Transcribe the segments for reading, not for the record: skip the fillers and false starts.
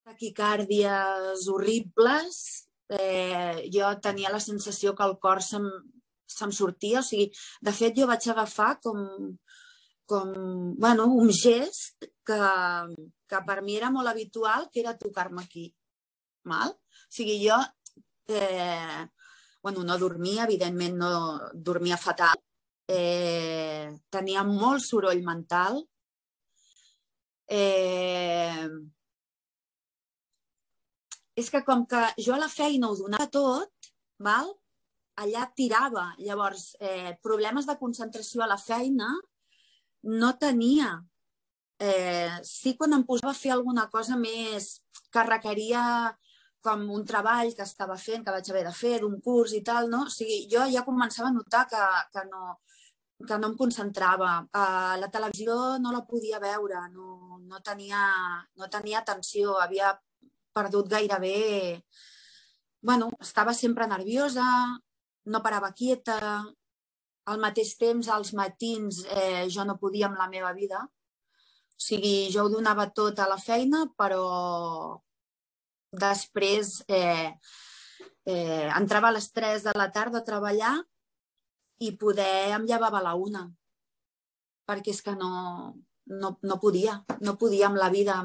taquicàrdies horribles, jo tenia la sensació que el cor se'm sortia, o sigui, de fet jo vaig agafar un gest que per mi era molt habitual, que era tocar-me aquí. O sigui, jo no dormia, evidentment no dormia fatal, tenia molt soroll mental, és que com que jo a la feina ho donava tot, allà tirava. Llavors, problemes de concentració a la feina no tenia. Sí, quan em posava a fer alguna cosa més que requeria com un treball que estava fent, que vaig haver de fer, d'un curs i tal, no? O sigui, jo ja començava a notar que no em concentrava. La televisió no la podia veure, no tenia atenció, havia perdut gairebé... estava sempre nerviosa, no parava quieta, al mateix temps, als matins, jo no podia amb la meva vida. O sigui, jo ho donava tot a la feina, però després entrava a les 3 de la tarda a treballar i poder em llevava a la 1, perquè és que no podia amb la vida.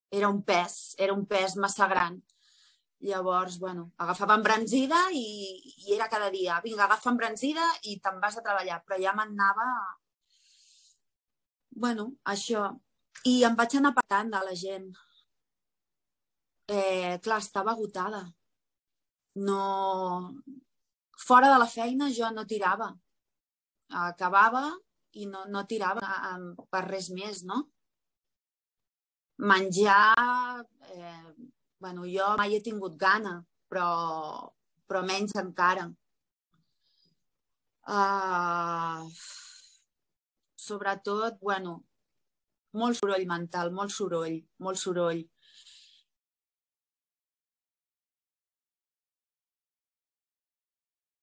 Era un pes massa gran. Llavors, agafava embranzida i era cada dia, vinga, agafa embranzida i te'n vas a treballar, però ja me'n anava... això. I em vaig anar apartant de la gent. Clar, estava agotada. Fora de la feina jo no tirava. Acabava i no tirava per res més, no? Menjar... jo mai he tingut gana, però menys encara. Sobretot, molt soroll mental, molt soroll.